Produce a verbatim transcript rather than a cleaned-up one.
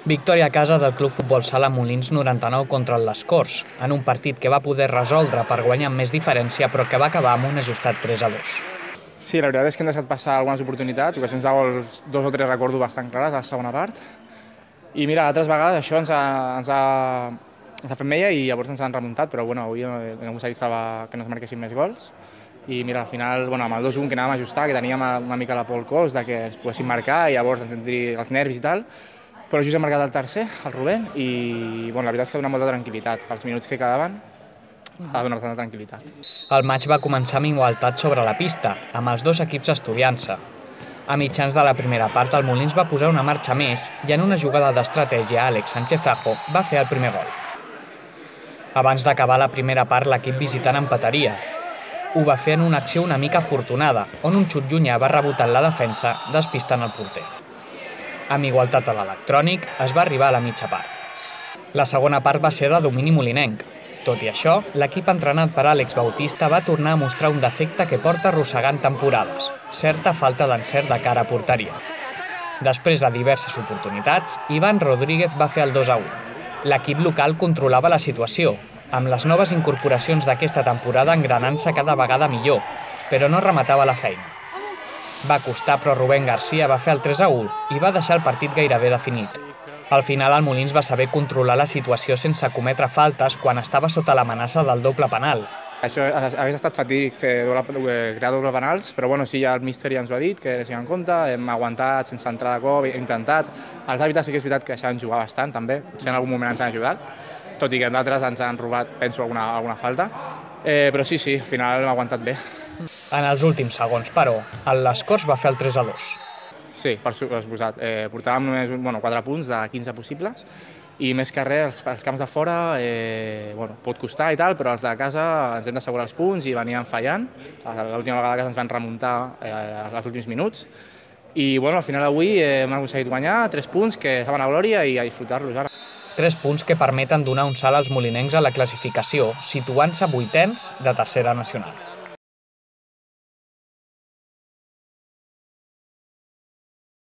Victòria a casa del Club Futbol Sala Molins noranta-nou contra el Les Corts, en un partit que va poder resoldre per guanyar amb més diferència, però que va acabar amb un ajustat tres a dos. Sí, la veritat és que hem deixat passar algunes oportunitats, ocasions de gols, dos o tres recordo bastant clares a la segona part. I mira, altres vegades això ens ha, ens ha, ens ha fet mella i llavors ens han remuntat, però bueno, avui hem aconseguit salvar que no es marquessin més gols. I mira, al final, bueno, amb el dos a un que anàvem a ajustar, que teníem una mica la por al cos de que ens poguessin marcar i llavors ens tindria els nervis i tal, però just hem marcat el tercer, el Rubén, i bueno, la veritat és que ha donat molta tranquil·litat. Els minuts que quedaven ha donat bastanta tranquil·litat. El maig va començar amb igualtat sobre la pista, amb els dos equips estudiant-se. A mitjans de la primera part, el Molins va posar una marxa més i en una jugada d'estratègia, Àlex Sánchez-Ajo va fer el primer gol. Abans d'acabar la primera part, l'equip visitant empataria. Ho va fer en una acció una mica afortunada, on un xut llunyà va rebotar en la defensa, despistant el porter. Amb igualtat a l'electrònic, es va arribar a la mitja part. La segona part va ser de domini molinenc. Tot i això, l'equip entrenat per Àlex Bautista va tornar a mostrar un defecte que porta arrossegant temporades, certa falta d'encert de cara a porteria. Després de diverses oportunitats, Ivan Rodríguez va fer el dos a u. L'equip local controlava la situació, amb les noves incorporacions d'aquesta temporada engranant-se cada vegada millor, però no rematava la feina. Va costar, però Rubén García va fer el tres a u i va deixar el partit gairebé definit. Al final, el Molins va saber controlar la situació sense cometre faltes quan estava sota l'amenaça del doble penal. Això hagués estat fatídic fer doble, crear doble penals, però bueno, sí, ja el míster ja ens ho ha dit, que era en compte, hem aguantat sense entrar de cop, hem intentat. Els àrbitres sí que és veritat que deixaven jugar bastant, també, si en algun moment ens han ajudat, tot i que d'altres ens han robat, penso, alguna, alguna falta. Eh, però sí, sí, al final hem aguantat bé. En els últims segons, però, el Les Corts va fer el tres a dos. Sí, per suposat. Eh, portàvem només bueno, quatre punts de quinze possibles i més que res, els, els camps de fora eh, bueno, pot costar i tal, però els de casa ens hem d'assegurar els punts i veníem fallant. L'última vegada que ens van remuntar eh, els últims minuts. I bueno, al final avui eh, hem aconseguit guanyar tres punts que saben a glòria i a disfrutar-los ara. Tres punts que permeten donar un salt als molinencs a la classificació, situant-se vuitens de tercera nacional.